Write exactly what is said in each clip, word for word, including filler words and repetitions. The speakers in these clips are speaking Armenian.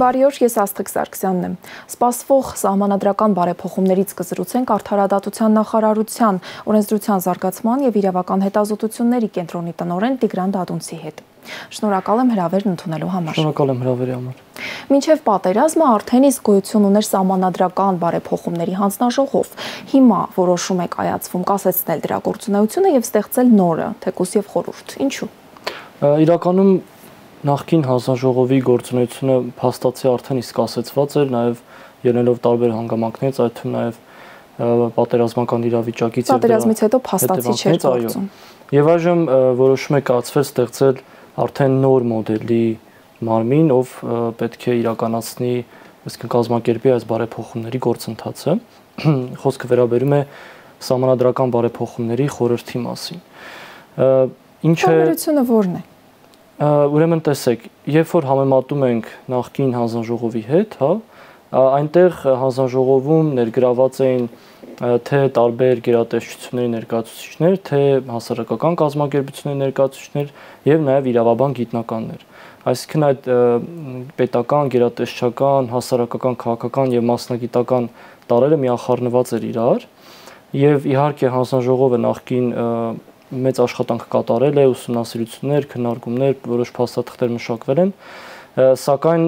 Բարի օր, ես Աստղիկ Սարգսյանն եմ։ Սպասվող սահմանադրական բարեփոխումներից կզրուցենք Արդարադատության նախարարության, օրենսդրության զարգացման եւ իրավական հետազոտությունների կենտրոնի տնօրեն Տիգրան Դադունցի հետ։ Շնորհակալ եմ հրավերն ընդունելու համար։ Շնորհակալ եմ հրավերի համար։ Մինչև պատերազմը արդեն իսկ գոյություն ուներ սահմանադրական բարեփոխումների հանձնաժողով։ Հիմա որոշում է կայացվում կասեցնել դրա գործունեությունը եւ ստեղծել նորը, թեկուզ եւ խորհուրդ։ Ինչու՞։ Իրականում նախկին հանձնաժողովի գործունեությունը փաստացի արդեն իսկ ասեցված էր, նաև ելնելով տարբեր հանգամանքներից, այդ թվում նաև պատերազմական իրավիճակից եւ պատերազմից հետո փաստացի չէր գործում։ Եվ այժմ որոշում է կայացվել ստեղծել արդեն նոր մոդելի մարմին, ով պետք է իրականացնի, այսինքն կազմակերպի այս բարեփոխումների գործընթացը։ Խոսքը վերաբերում է սահմանադրական բարեփոխումների խորհրդի մասին։ Ինչ է Հարաբերությունը որն է։ Ուրեմն տեսեք, երբ որ համեմատում ենք նախկին հանձնաժողովի հետ, հա, այնտեղ հանձնաժողովում ներգրաված էին թե տարբեր գերատեսչությունների ներկայացուցիչներ, թե հասարակական կազմակերպությունների ներկայացուցիչներ եւ նաեւ իրավաբան գիտնականներ։ Այսինքն այդ պետական, գերատեսչական, հասարակական, քաղաքական եւ մասնագիտական տարրերը միախառնված էր իրար եւ իհարկե հանձնաժողովը նախկին մեծ աշխատանք կատարել է, ուսումնասիրություններ, քննարկումներ, որոշ փաստաթղթեր մշակվել են, սակայն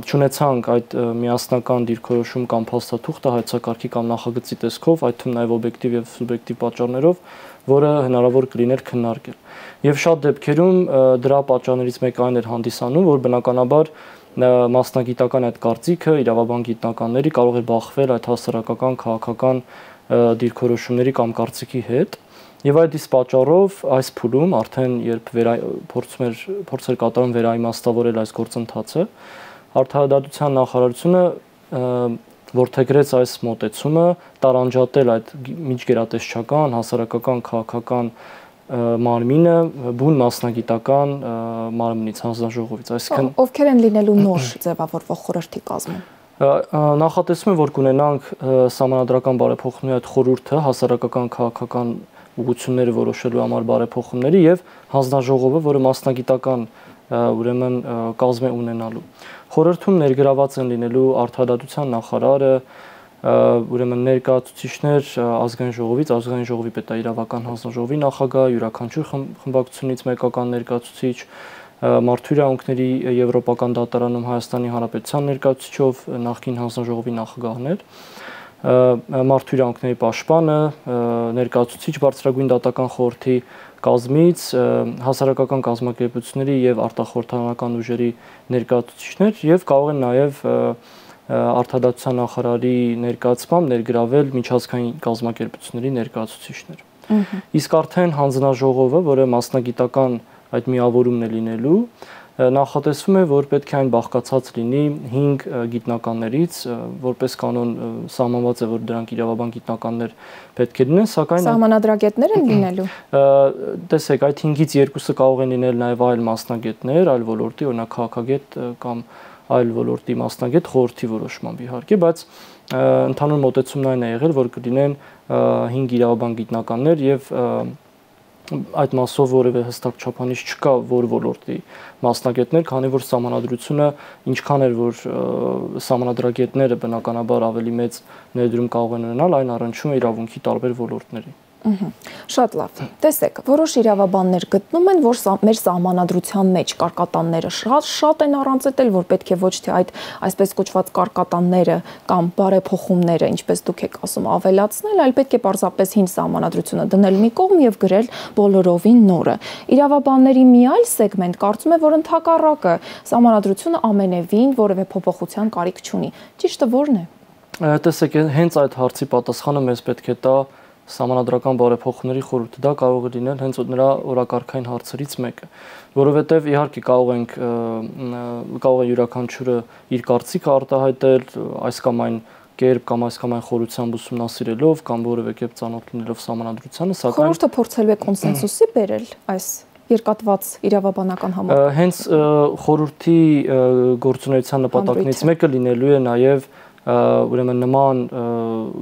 չունեցանք այդ միասնական դիրքորոշում կամ փաստաթուղթը հայեցակարգի կամ նախագծի տեսքով, այդ թվում նաև օբյեկտիվ եւ սուբյեկտիվ պատճառներով, որը հնարավոր կլիներ քննարկել։ Եվ շատ դեպքերում դրա պատճառներից մեկը այն էր հանդիսանում, որ բնականաբար մասնագիտական այդ կարծիքը իրավաբան գիտնականների կարող էր բախվել այդ հասարակական, քաղաքական դիրքորոշումների կամ կարծիքի հետ։ Եվ այդ իսկ պատճառով այս փուլում արդեն երբ փորձում էր փորձեր կատարում վերաիմաստավորել այս գործընթացը, Արդարադատության նախարարությունը որդեգրեց այս մոտեցումը տարանջատել այդ միջգերատեսչական, հասարակական, քաղաքական մարմինը բուն մասնագիտական մարմնից, հանձնաժողովից, այսինքն ովքեր են լինելու նոր ձևավորվող խորհրդի կազմում։ Նախատեսում է, որ կունենանք սահմանադրական բարեփոխումների այդ խորհուրդը հասարակական, քաղաքական ուղղությունները որոշելու համար բարեփոխումների եւ հանձնաժողովը, որը մասնագիտական ուրեմն կազմ է ունենալու։ Խորհրդում ներգրաված են լինելու Արդարադատության նախարարը, ուրեմն ներկայացուցիչներ ազգային ժողովից, ազգային ժողովի պետաիրավական հանձնաժողովի նախագահ, յուրաքանչյուր խմբակցությունից մեկական ներկայացուցիչ, Մարդու իրավունքների Եվրոպական դատարանում Հայաստանի Հանրապետության ներկայացուցիչով նախկին հանձնաժողովի նախագահներ, Մարդու իրավունքների պաշտպանը, ներկայացուցիչ բարձրագույն դատական խորհրդի կազմից, հասարակական կազմակերպությունների եւ արտախորհրդարանական ուժերի ներկայացուցիչներ եւ կարող են նաեւ Արդարադատության նախարարի ներկայացմամբ ներգրավել միջազգային կազմակերպությունների ներկայացուցիչներ։ Իսկ արդեն հանձնաժողովը, որը մասնագիտական այդ միավորումն է լինելու, նախատեսվում է, որ պետք է այն բաղկացած լինի հինգ գիտնականներից, որպես կանոն սահմանված է, որ դրանք իրավաբան գիտնականներ պետք է լինեն, սակայն սահմանադրագետներ են լինելու։ Տեսեք, այդ հինգից երկուսը կարող են լինել նաև այլ մասնագետներ, այլ ոլորտի, օրինակ քաղաքագետ կամ այլ ոլորտի մասնագետ խորհրդի որոշմամբ իհարկե, բայց ընդհանուր մոտեցումն այն է եղել, որ կլինեն հինգ իրավաբան գիտնականներ եւ այդ մասով որևէ հստակ չափանիշ չկա, որ ոլորտի մասնագետներ, քանի որ սահմանադրությունը ինչքան էր, որ սահմանադրագետները բնականաբար ավելի մեծ ներդրում կարող են ունենալ, այն առնչվում է իրավունքի տարբեր ոլորտների։ Շատ լավ։ Տեսեք, որոշ իրավաբաններ գտնում են, որ մեր սահմանադրության մեջ կարկատանները շատ շատ են առանցել, որ պետք է ոչ թե այդ այսպես կոչված կարկատանները կամ բարեփոխումները, ինչպես դուք եք ասում, ավելացնել, այլ պետք է պարզապես հին սահմանադրությունը դնել մի կողմ եւ գրել բոլորովին նորը։ Իրավաբանների մի այլ սեգմենտ կարծում է, որ ընդհակառակը սահմանադրությունը ամենևին որևէ փոփոխության կարիք չունի։ Ճիշտը ո՞րն է։ Տեսեք, հենց այդ հարցի պատասխանը մեզ պետք է տա սահմանադրական բարեփոխումների խորհուրդը, դա կարող է լինել հենց նրա օրակարգային հարցերից մեկը, որովհետև իհարկե կարող ենք կարող է յուրաքանչյուրը իր կարծիքը արտահայտել այս կամ այն կերպ կամ այս կամ այն խորությամբ ուսումնասիրելով կամ որևէ կերպ ծանոթ լինելով սահմանադրությանը, սակայն խորհուրդը փորձելու է կոնսենսուսի բերել այս երկատված իրավաբանական համակարգը։ Հենց խորհրդի գործունեության նպատակներից մեկը լինելու է նաև ուրեմն նման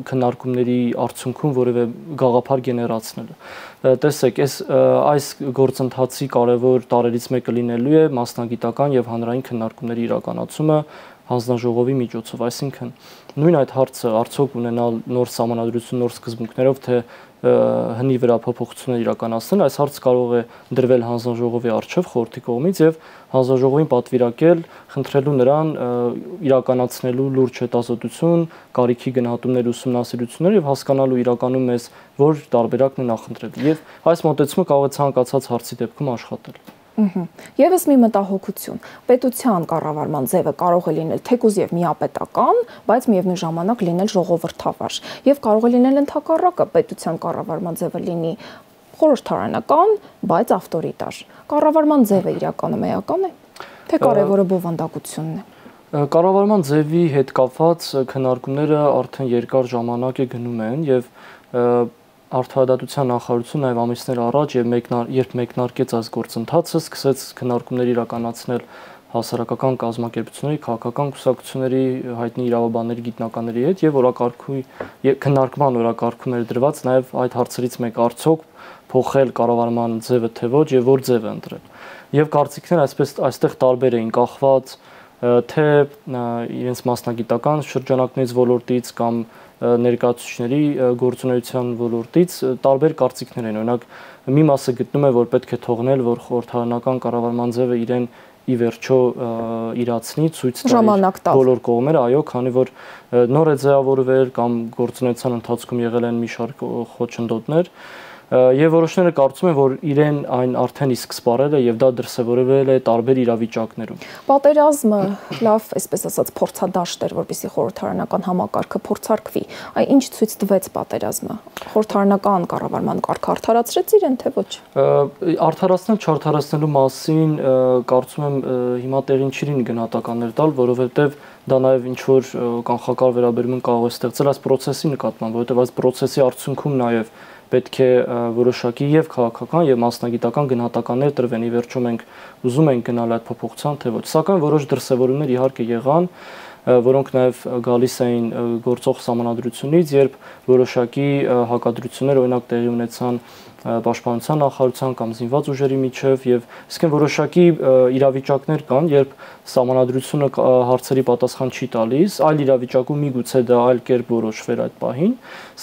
քննարկումների արդյունքում որևէ գաղափար գեներացնելը։ Տեսեք, այս այս գործընթացի կարևոր տարրերից մեկը լինելու է մասնագիտական եւ հանրային քննարկումների իրականացումը հանձնաժողովի միջոցով, այսինքն նույն այդ հարցը արդյոք ունենալ նոր սահմանադրություն, նոր սկզբունքներով, թե հնի վրա փոփոխություններ իրականացնել, այս հարցը կարող է դրվել հանձնաժողովի առջև խորհրդի կողմից եւ հանձնաժողովին պատվիրակել, խնդրելու նրան իրականացնելու լուրջ հետազոտություն, կարիքի գնահատումներ, ուսումնասիրություններ եւ հասկանալու իրականում մեզ որ տարբերակն է նախընտրել։ Եվ այս մոտեցումը կարող է ցանկացած հարցի դեպքում աշխատել։ Եվս մի մտահոգություն, պետության կառավարման ձևը կարող է լինել թեկուզ եւ միապետական, բայց միևնույն ժամանակ լինել ժողովրդավար, եւ կարող է լինել ընդհակառակը, պետության կառավարման ձևը լինի խորհրդարանական, բայց ավտորիտար։ Կառավարման ձևը իրականում էական է, թե կարևորը բովանդակությունն է։ Կառավարման ձևի հետ կապված քննարկումները արդեն երկար ժամանակ է գնում են եւ Արդարադատության նախարարությունը նաև ամիսներ առաջ եւ մեկնար, երբ մեկնարկեց այս գործընթացը, սկսեց քննարկումներ իրականացնել հասարակական կազմակերպությունների, քաղաքական կուսակցությունների, հայտնի իրավաբանների, գիտնականների հետ եւ օրակարգի քննարկման օրակարգում էր դրված նաև այդ հարցերից մեկ արդյոք փոխել կառավարման ձևը թե ոչ եւ որ ձև ընտրել։ Եվ կարծիքները այսպես այստեղ տարբեր էին կախված թե իրենց մասնագիտական շրջանակներից ոլորտից կամ ներկայացուցիչների գործունեության ոլորտից տարբեր կարծիքներ են։ Օրինակ, մի մասը գտնում է, որ պետք է թողնել, որ խորհրդարանական կառավարման ձևը իրեն ի վերջո իրացնի, ցույց տա բոլոր կողմերը, այո, քանի որ նոր է ձևավորվել կամ գործունեության ընթացքում եղել են մի շարք խոչընդոտներ, եւ որոշները կարծում են, որ իրեն այն արդեն իսկ սպառել է եւ դա դրսեւորվել է տարբեր իրավիճակներում։ Պատերազմը լավ, այսպես ասած, փորձադաշտ էր, որպեսզի խորհրդարանական համակարգը փորձարկվի։ Այ ինչ ցույց տվեց պատերազմը։ Խորհրդարանական կառավարման կարգը արդարացրեց իրեն, թե ոչ։ Արդարացնել, չարդարացնելու մասին կարծում եմ հիմա տեղին չի լինի գնահատականներ տալ, որովհետեւ դա նաեւ ինչ որ կանխակար վերաբերմունք կարող է ստեղծել այս process-ի նկատմամբ, որովհետեւ այս process-ի արդյունքում նաեւ պետք է որոշակի եւ քաղաքական եւ մասնագիտական գնահատականներ տրվեն։ Ի վերջո մենք ուզում ենք գնալ այդ փոփոխության թե ոչ, սակայն որոշ դրսևորումներ իհարկե եղան, որոնք նաեւ գալիս էին գործող սահմանադրությունից, երբ որոշակի հակադրություններ օրինակ տեղի ունեցան պաշտպանության նախարարության կամ զինված ուժերի միջև եւ իսկեն որոշակի իրավիճակներ կան, երբ սահմանադրությունը հարցերի պատասխան չի տալիս, այլ իրավիճակում միգուցե դա այլ կերպ որոշվեր այդ պահին,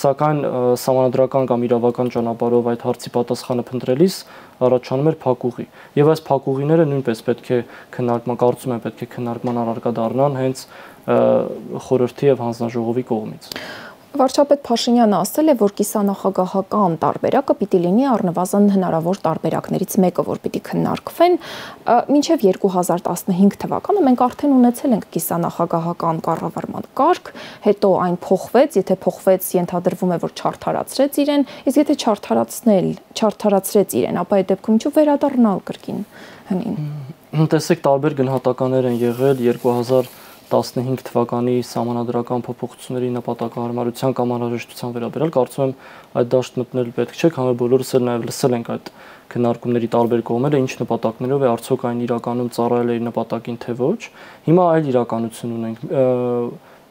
սակայն սահմանադրական կամ իրավական ճանապարհով այդ հարցի պատասխանը փնտրելիս առաջանում էր փակուղի։ Եվ այս փակուղիները նույնպես պետք է քննարկման, կարծում եմ, պետք է քննարկման առարկա դառնան հենց խորհրդի եւ հանձնաժողովի կողմից։ Վարչապետ Փաշինյանը ասել է, որ կիսանախագահական տարբերակը պիտի լինի առնվազն հնարավոր տարբերակներից մեկը, որ պիտի քննարկվեն, մինչև երկու հազար տասնհինգ թվականը մենք արդեն ունեցել ենք կիսանախագահական կառավարման կարգ, հետո այն փոխվեց, եթե փոխվեց, ենթադրվում է, որ չարդարացրեց իրեն, իսկ եթե չարդարացնել, չարդարացրեց իրեն, ապա այդ դեպքում ինչու վերադառնալ կրկին հնին։ Տեսեք, տարբեր գնահատականներ են եղել երկու հազար տասնհինգ թվականի սահմանադրական փոփոխությունների նպատակահարմարության կամ անհրաժեշտության վերաբերյալ, կարծում եմ այդ դաշտ մտնել պետք չէ, քանի որ բոլորս էլ նաև լսել ենք այդ քննարկումների տարբեր կողմերը, ինչ նպատակներով է, արդյոք այն իրականում ծառայել է իր նպատակին թե ոչ։ Հիմա այլ իրականություն ունենք։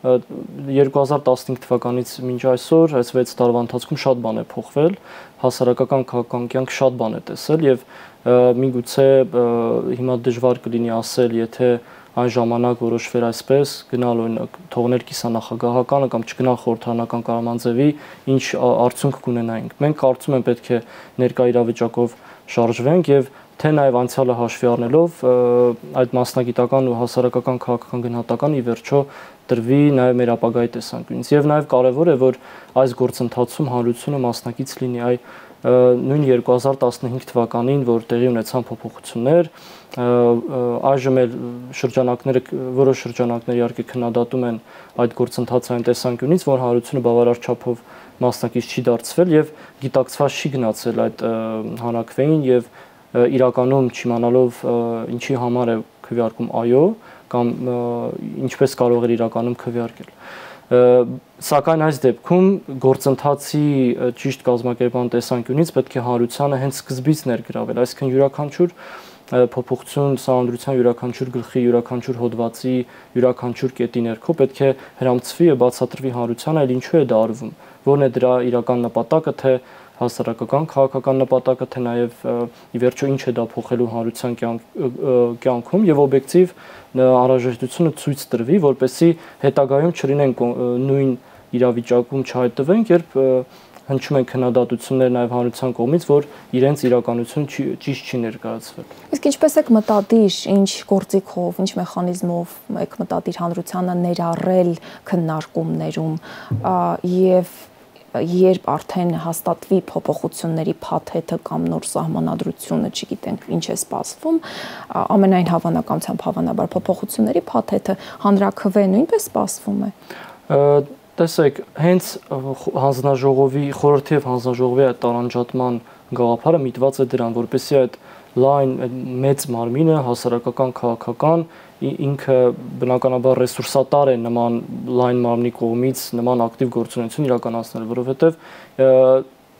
երկու հազար տասնհինգ թվականից մինչ այսօր այս վեց տարվա ընթացքում շատ բան է փոխվել, հասարակական քաղաքական կյանք շատ բան է տեսել եւ միգուցե հիմա դժվար կլինի ասել, եթե այն ժամանակ որոշվեր այսպես, գնալ օրինակ թողնել կիսանախագահականը կամ չգնալ խորհրդարանական կառավարման ձևի, ինչ արդյունք կունենայինք։ Մենք կարծում եմ պետք է ներկա իրավիճակով շարժվենք եւ թե նաեւ անցյալը հաշվի առնելով այդ մասնագիտական ու հասարակական քաղաքական գնահատական ի վերջո տրվի նաեւ մեր ապագայի տեսանկյունից։ Եվ նաեւ կարեւոր է, որ այս գործընթացում հանրությունը մասնակից լինի, այ նույն երկու հազար տասնհինգ թվականին, որ տեղի ունեցան փոփոխություններ, այժմ էլ շրջանակները, որոշ շրջանակներ իհարկե քննադատում են այդ գործընթացը այն տեսանկյունից, որ հանրությունը բավարար չափով մասնակից չի դարձվել եւ գիտակցված չի գնացել այդ հանրակրվեին եւ իրականում չիմանալով ինչի համար է քվեարկում այո կամ ինչպես կարող է իրականում քվեարկել։ Սակայն այս դեպքում գործընթացի ճիշտ կազմակերպման տեսանկյունից պետք է հանրությանը հենց սկզբից ներգրավել, այսինքն յուրաքանչյուր փոփոխություն սահմանադրության յուրաքանչյուր գլխի, յուրաքանչյուր հոդվածի, յուրաքանչյուր կետի ներքո պետք է հրամցվի եւ բացատրվի հանրությանը, այլ ինչու է դա արվում, որն է դրա իրական նպատակը, թե հասարակական քաղաքական նպատակը, թե նաեւ ի վերջո ինչ է դա փոխելու հանրության կյանքում եւ օբյեկտիվ անհրաժեշտությունը ցույց տրվի, որպեսզի հետագայում չլինենք նույն իրավիճակում չհայտնվենք, երբ հնչում են քննադատություններ նաև հանրության կողմից, որ իրենց իրականություն ճիշտ չի ներկայացվել։ Իսկ ինչպես եք մտադիր, ինչ գործիքով, ինչ մեխանիզմով եք մտադիր հանրությանը ներառել քննարկումներում եւ երբ արդեն հաստատվի փոփոխությունների փաթեթը կամ նոր սահմանադրությունը, չգիտենք ինչ է սպասվում, ամենայն հավանականությամբ հավանաբար փոփոխությունների փաթեթը հանրաքվե նույնպես սպասվում է։ Տեսեք, հենց հանձնաժողովի խորհրդի եւ հանձնաժողովի այդ տարանջատման գաղափարը միտված է դրան, որպեսզի այդ լայն մեծ մարմինը հասարակական քաղաքական ինքը բնականաբար ռեսուրսատար է նման լայն մարմնի կողմից նման ակտիվ գործունեություն իրականացնել, որովհետեւ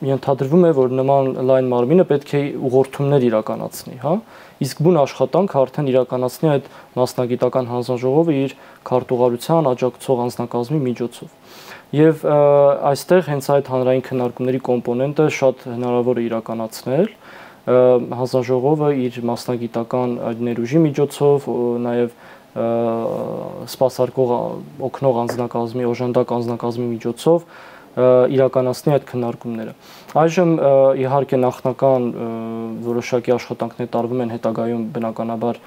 ենթադրվում է, որ նման լայն մարմինը պետք է ուղղորդումներ իրականացնի, հա, իսկ բուն աշխատանքը արդեն իրականացնի այդ մասնագիտական հանձնաժողովը իր քարտուղարության աջակցող անձնակազմի միջոցով։ Եվ այստեղ հենց այդ հանրային քննարկումների կոմպոնենտը շատ հնարավոր է իրականացնել, հանձնաժողովը իր մասնագիտական ներուժի միջոցով, նաև սպասարկող օգնող անձնակազմի, օժանդակ անձնակազմի միջոցով իրականացնի այդ քննարկումները։ Այժմ իհարկե նախնական որոշակի աշխատանքներ տարվում են հետագայում բնականաբար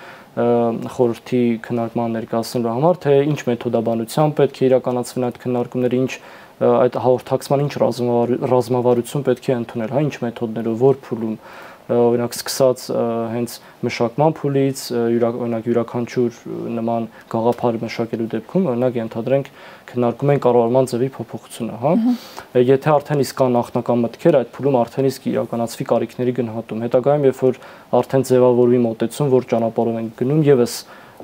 խորհրդի քննարկման ներկայացնելու համար, թե ինչ մեթոդաբանությամբ պետք է իրականացվեն այդ քննարկումները, ինչ այդ հաղորդակցման ինչ ռազմավարություն պետք է ընդունել, հա, ինչ մեթոդներով, որ փուլում, օրինակ սկսած հենց մշակման փուլից, օրինակ յուրաքանչյուր նման գաղափար մշակելու դեպքում, օրինակ ենթադրենք քննարկում են կառավարման ձևի փոփոխությունը, հա։ Եթե արդեն իսկ կան նախնական մտքեր, այդ փուլում արդեն իսկ իրականացվի կարիքների գնահատում։ Հետագայում, երբ որ արդեն ձևավորվի մոտեցում, որ ճանապարհով են գնում, եւս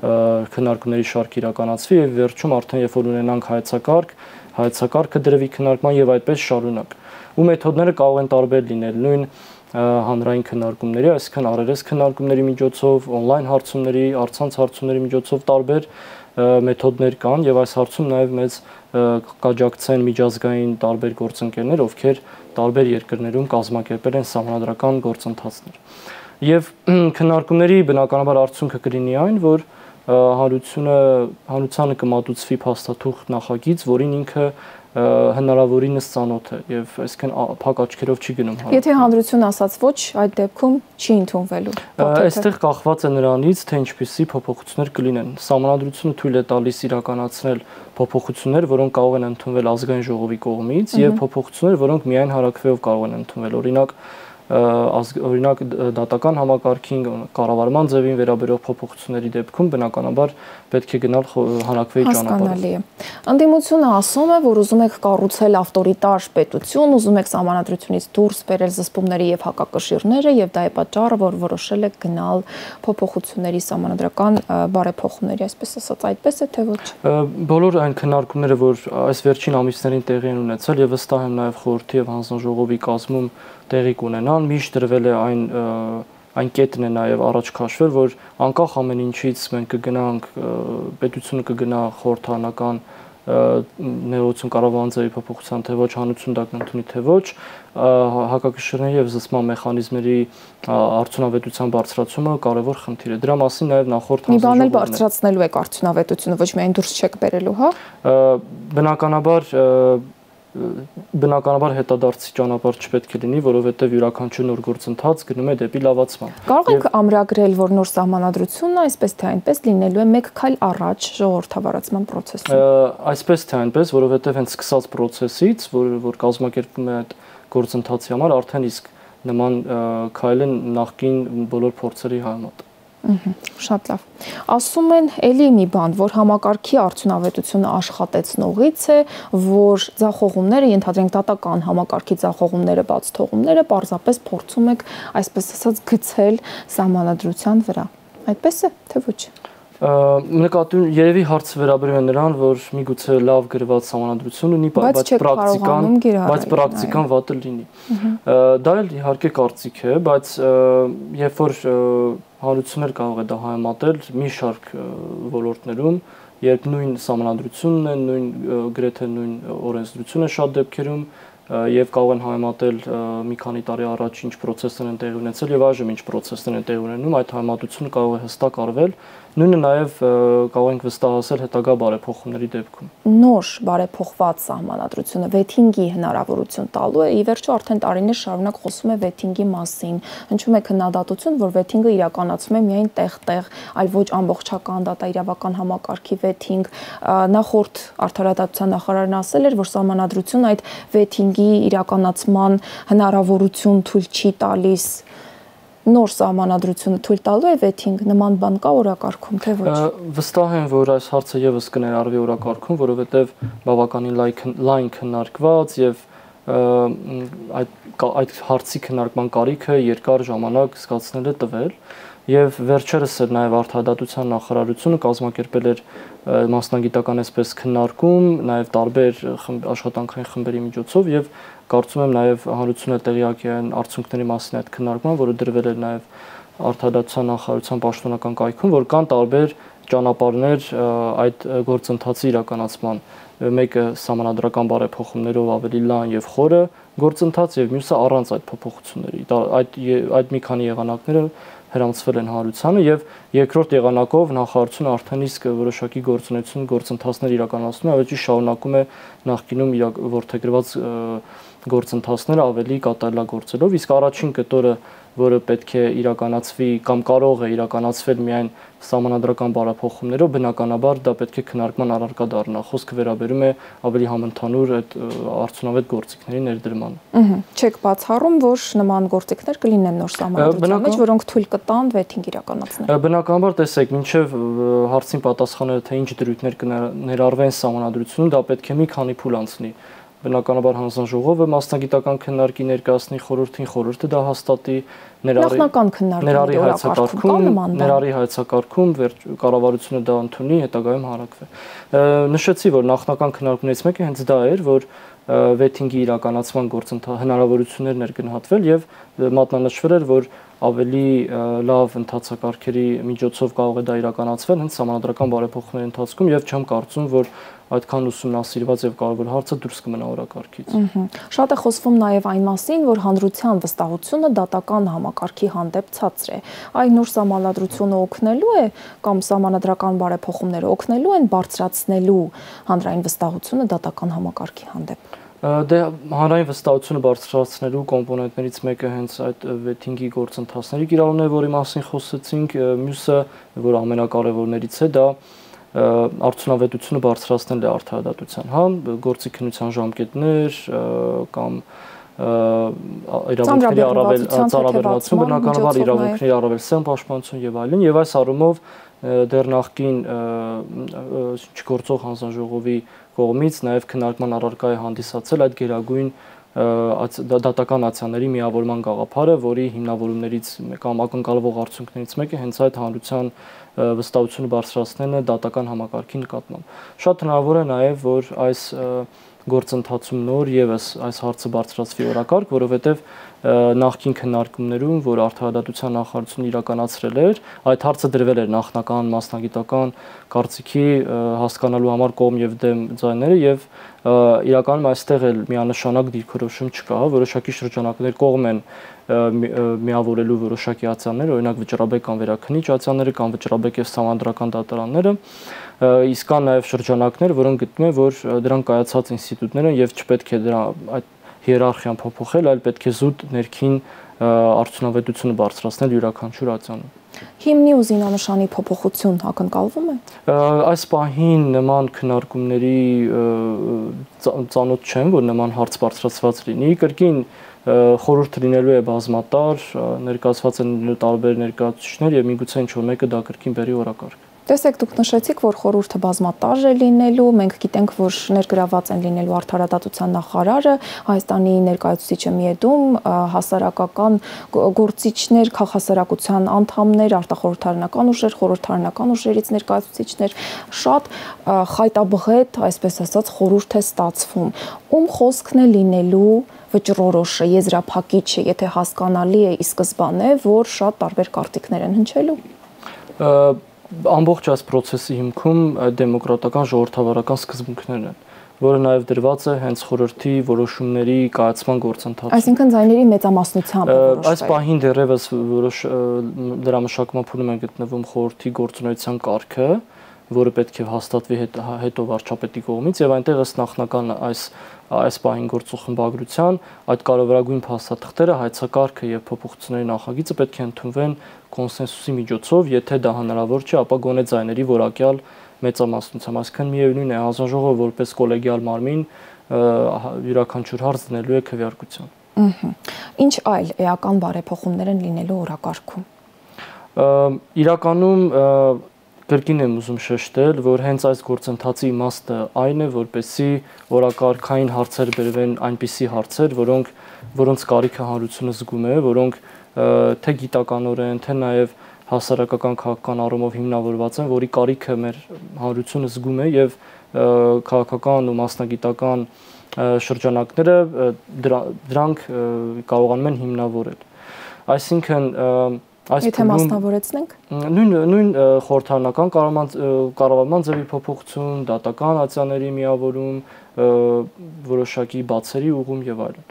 քննարկումների շարք իրականացվի եւ վերջում արդեն երբ որ ունենանք հայեցակարգ, հայեցակարգը դրվի քննարկման եւ այդպես շարունակ։ Ու մեթոդները կարող են տարբեր լինել, նույն հանրային քննարկումների, այսինքն առերես քննարկումների միջոցով, on-line հարցումների, առցանց հարցումների միջոցով տարբեր մեթոդներ կան եւ այս հարցում նաեւ մեծ կաջակցեն միջազգային տարբեր գործընկերներ, ովքեր տարբեր երկրներում կազմակերպել են սահմանադրական գործընթացներ։ Եվ քննարկումների բնականաբար արդյունքը կլինի այն, որ հանրությունը հանրությանը կմատուցվի փաստաթուղթ նախագիծ, որին ինքը հնարավորինս ծանոթ է եւ այսինքն փակ աչքերով չի գնում։ Եթե հանրությունը ասած ոչ, այդ դեպքում չի ընդունվելու։ Այստեղ կախված է նրանից, թե ինչպիսի փոփոխություններ կլինեն։ Սահմանադրությունը թույլ է տալիս իրականացնել փոփոխություններ, որոնք կարող են ընդունվել ազգային ժողովի կողմից, եւ փոփոխություններ, որոնք միայն հարաքվեով կարող են ընդունվել։ Օրինակ օրինակ դատական համակարգին, կառավարման ձևին վերաբերող փոփոխությունների դեպքում բնականաբար պետք է գնալ հանրաքվեի ճանապարհով։ Հասկանալի է։ Անդիմությունը ասում է, որ ուզում եք կառուցել ավտորիտար պետություն, ուզում եք սահմանադրությունից դուրս բերել զսպումների եւ հակակշիռները, եւ դա է պատճառը, որ որոշել եք գնալ փոփոխությունների սահմանադրական բարեփոխումների, այսպես ասած, այդպես է թե ոչ։ Բոլոր այն քննարկումները, որ այս վերջին ամիսներին տեղի են ունեցել, եւ վստահ եմ նաեւ խորհրդի եւ հանձնաժողովի կազմում տեղի կունենան, միշտ դրվել է այն այն կետն է նաև առաջ քաշվել, որ անկախ ամեն ինչից մենք կգնանք, պետությունը կգնա խորհրդանական ներողություն կառավարման ձևի փոփոխության, թե ոչ հանրություն դա կընդունի, թե ոչ, հակակշիռների եւ զսպման մեխանիզմների արդյունավետության բարձրացումը կարևոր խնդիր է։ Դրա մասին նաև նախորդ հանձնաժողովն մի բան էլ բարձրացնելու եք արդյունավետությունը, ոչ միայն դուրս չեք բերելու, հա։ Բնականաբար բնականաբար հետադարձի ճանապարհ չպետք է լինի, որովհետև յուրաքանչյուր նոր գործընթաց գնում է դեպի լավացման։ Կարող եք ամրագրել, որ նոր սահմանադրությունը այսպես թե այնպես լինելու է մեկ քայլ առաջ ժողովրդավարացման process-ում։ Այսպես թե այնպես, որովհետև հենց սկսած process-ից, որ որ կազմակերպվում է այդ գործընթացի համար, արդեն իսկ նման քայլը նախկին բոլոր փորձերի համեմատ։ Շատ լավ։ Ասում են էլի մի բան, որ համակարգի արդյունավետությունը աշխատեցնողից է, որ ձախողումները, ենթադրենք դատական համակարգի ձախողումները, բաց թողումները պարզապես փորձում եք, այսպես ասած, գցել սահմանադրության վրա։ Այդպես է, թե ոչ։ Նկատում երևի հարցը վերաբերում է նրան, որ միգուցե լավ գրված սահմանադրություն ունի, բայց պրակտիկան, բայց պրակտիկան վատը լինի։ Դա էլ իհարկե կարծիք է, բայց երբ որ հանրություններ կարող է դա համեմատել մի շարք ոլորտներում, երբ նույն սահմանադրությունն է, նույն գրեթե նույն օրենսդրությունը շատ դեպքերում եւ կարող են համեմատել մի քանի տարի առաջ ինչ process-ներ են տեղի ունեցել եւ այժմ ինչ process-ներ են տեղի ունենում, այդ համեմատությունը կարող է հստակ արվել, նույնը նաեւ կարող ենք վստահացնել հետագա բարեփոխումների դեպքում։ Նոր բարեփոխված սահմանադրությունը վեթինգի հնարավորություն տալու է, ի վերջո արդեն տարիներ շարունակ խոսում է վեթինգի մասին, հնչում է քննադատություն, որ վեթինգը իրականացվում է միայն տեղ-տեղ, այլ ոչ ամբողջական դատաիրավական համակարգի վեթինգ։ Նախորդ արդարադատության նախարարն ասել էր, որ սահմանադրությունը այդ վեթինգի իրականացման հնարավորություն թույլ չի տալիս։ Նոր սահմանադրությունը թույլ տալու է վեթինգ, նման բան կա օրակարգում, թե ոչ։ Վստահ եմ, որ այս հարցը եւս կներառվի օրակարգում, որովհետեւ բավականին լայն քննարկված եւ այդ այդ հարցի քննարկման կարիքը երկար ժամանակ զգացնել է տվել եւ վերջերս էլ նաեւ արդարադատության նախարարությունը կազմակերպել էր մասնագիտական այսպես քննարկում, նաեւ տարբեր աշխատանքային խմբերի միջոցով եւ կարծում եմ նաեւ հանրությունը տեղյակ է արդյունքների մասին այդ քննարկման, որը դրվել էր նաեւ արդարադատության նախարարության պաշտոնական կայքում, որ կան տարբեր ճանապարհներ այդ գործընթացի իրականացման, մեկը սահմանադրական բարեփոխումներով ավելի լայն եւ խորը գործընթաց եւ մյուսը առանց այդ փոփոխությունների։ Այդ այդ մի քանի եղանակները հրամցվել են հանրությանը եւ երկրորդ եղանակով նախարարությունը արդեն իսկ որոշակի գործունեություն գործընթացներ իրականացնում է, ավելի շարունակում է նախկինում որդեգրված գործընթացները ավելի կատարելագործելով, իսկ առաջին կտորը, որը պետք է իրականացվի կամ կարող է իրականացվել միայն սահմանադրական բարեփոխումներով, բնականաբար դա պետք է քննարկման առարկա դառնա։ Խոսքը վերաբերում է ավելի համընդհանուր այդ արդյունավետ գործիքների ներդրմանը։ Չեք բացառում, որ նման գործիքներ կլինեն նոր սահմանադրության մեջ, որոնք թույլ կտան վեթինգ իրականացնել։ Բնականաբար տեսեք, մինչև հարցին պատասխանելը թե ինչ դրույթներ կներառվեն սահմանադրությունում, դա պետք է մի քանի փուլ անցնի։ Բնականաբար հանձնաժողովը մասնագիտական քննարկի ներկայացնի խորհրդին, խորհուրդը դա հաստատի, ներառի հայեցակարգում, ներառի հայեցակարգում, կառավարությունը դա ընդունի, հետագայում հանրակրվի։ Նշեցի, որ նախնական քննարկումներից մեկը հենց դա էր, որ վեթինգի իրականացման գործընթացի հնարավորություններն էր գնահատվել եւ մատնանշվել էր, որ ավելի լավ ընթացակարգերի միջոցով կարող է դա իրականացվել հենց սահմանադրական բարեփոխումների ընթացքում եւ չեմ կարծում, որ այդքան ուսումնասիրված եւ կարևոր հարցը դուրս կմնա օրակարգից։ Շատ է խոսվում նաեւ այն մասին, որ հանրության վստահությունը դատական համակարգի հանդեպ ցածր է։ Այն նոր սահմանադրությունը օգնելու է կամ սահմանադրական բարեփոխումները օգնելու են բարձրացնելու հանրային վստահությունը դատական համակարգի հանդեպ։ Դե հանրային վստահությունը բարձրացնելու կոմպոնենտներից մեկը հենց այդ վեթինգի գործընթացների կիրառումն է, որի մասին խոսեցինք, մյուսը, որ ամենակարևորներից է, դա արդյունավետությունը բարձրացնել է արդարադատության, հա, գործի քննության ժամկետներ կամ իրավունքների առավել ծառայողություն, բնականաբար իրավունքների առավել սեմ պաշտպանություն եւ այլն, եւ այս առումով դեռ նախկին չգործող հանձնաժողովի կողմից նաև քննարկման առարկա է հանդիսացել այդ գերագույն դատական ացիաների միավորման գաղափարը, որի հիմնավորումներից կամ ակնկալվող արդյունքներից մեկը հենց այդ հանրության վստահությունը բարձրացնելն է դատական համակարգի նկատմամբ։ Շատ հնարավոր է նաև, որ այս գործընթացում նոր եւս այս հարցը բարձրացվի օրակարգ, որովհետեւ նախկին քննարկումներում, որ արդարադատության նախարարությունը իրականացրել էր, այդ հարցը դրվել էր նախնական մասնագիտական կարծիքի հասկանալու համար կողմ եւ դեմ ձայները եւ իրականում այստեղ էլ միանշանակ դիրքորոշում չկա, որոշակի շրջանակներ կողմ են միավորելու որոշակի ացիաներ, օրինակ վճռաբեկ կամ վերաքննիչ ացիաները կամ վճռաբեկ եւ սահմանադրական դատարանները, իսկ կան նաեւ շրջանակներ, որոնք գտնում են, որ դրանք կայացած ինստիտուտներ են եւ չպետք է դրա այդ հիերարխիան փոփոխել, այլ պետք է զուտ ներքին արդյունավետությունը բարձրացնել յուրաքանչյուր ացիանում։ Հիմնի ու զինանշանի փոփոխություն ակնկալվում է։ Այս պահին նման քննարկումների ծանոթ չեմ, որ նման հարց բարձրացված լինի։ Կրկին խորհուրդը լինելու է բազմատար, ներկայացված են տարբեր ներկայացուցիչներ եւ միգուցե ինչ-որ մեկը դա կրկին բերի օրակարգ։ Տեսեք, դուք նշեցիք, որ խորհուրդը բազմատար է լինելու, մենք գիտենք, որ ներգրաված են լինելու արդարադատության նախարարը, Հայաստանի ներկայացուցիչը Միեդում, հասարակական գործիչներ, քաղաքասարակության անդամներ, արտախորհրդարանական ուժեր, խորհրդարանական ուժերից ներկայացուցիչներ, շատ խայտաբղետ, այսպես ասած, խորհուրդ է ստացվում։ Ում խոսքն է լինելու վճռորոշը, եզրափակիչը, եթե հասկանալի է ի սկզբանե, որ շատ տարբեր կարծիքներ են հնչելու։ Ամբողջ այս process-ի հիմքում դեմոկրատական ժողովրդավարական սկզբունքներն են, որը նաև դրված է հենց խորհրդի որոշումների կայացման գործընթացում։ Այսինքն ձայների մեծամասնությամբ որոշվել։ Այս պահին դեռևս որոշ դրա մշակման փուլում է գտնվում խորհրդի գործունեության կարգը, որը պետք է հաստատվի հետո վարչապետի կողմից, եւ այնտեղ ըստ նախնական այս այս պահին գործող խմբագրության այդ կարևորագույն փաստաթղթերը, հայցակարգը եւ փոփոխությունների նախագիծը պետք է ընդունվեն կոնսենսուսի միջոցով, եթե դա հնարավոր չէ, ապա գոնե ձայների որակյալ մեծամասնությամբ, այսինքն միևնույն է, հանձնաժողովը որպես կոլեգիալ մարմին յուրաքանչյուր հարց դնելու է քվեարկության։ Ինչ այլ էական բարեփոխումներ են լինելու օրակարգում։ Իրականում կրկին եմ ուզում շեշտել, որ հենց այս գործընթացի իմաստը այն է, որպեսզի օրակարգային հարցեր բերվեն այնպիսի հարցեր, որոնք որոնց կարիքը հանրությունը զգում է, որոնք թե գիտականորեն, թե նաև հասարակական քաղաքական առումով հիմնավորված են, որի կարիքը մեր հանրությունը զգում է եւ քաղաքական ու մասնագիտական շրջանակները դրանք կարողանում են հիմնավորել։ Այսինքն Եթե մասնավորեցնենք նույն նույն խորհրդարանական կառավարման ձևի փոփոխություն, դատական ացիաների միավորում, որոշակի բացերի ուղում եւ այլն։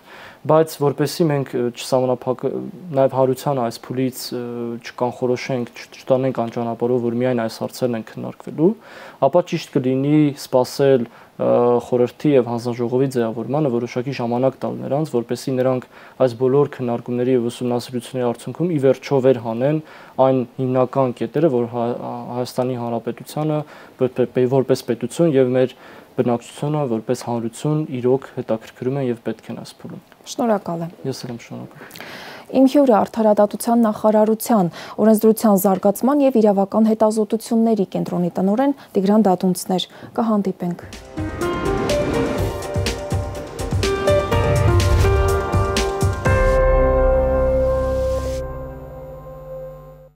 Բայց որպեսզի մենք չսահմանափակ նաեւ հարության այս փուլից չկանխորոշենք, չտանենք այն ճանապարհով, որ միայն այս հարցերն են քննարկվելու, ապա ճիշտ կլինի սպասել խորհրդի եւ հանձնաժողովի ձևավորմանը որոշակի ժամանակ տալ նրանց, որպեսզի նրանք այս բոլոր քննարկումների եւ ուսումնասիրությունների արդյունքում ի վերջո վեր հանեն այն հիմնական կետերը, որ Հայաստանի Հանրապետությանը որպես պետություն եւ մեր բնակչությունը որպես հանրություն իրոք հետաքրքրում են եւ պետք են այս փուլում։ Շնորհակալ եմ։ Ես էլ եմ շնորհակալ։ Իմ հյուրը Արդարադատության նախարարության օրենսդրության զարգացման եւ իրավական հետազոտությունների կենտրոնի տնօրեն Տիգրան Դատունցն էր։ Կհանդիպենք։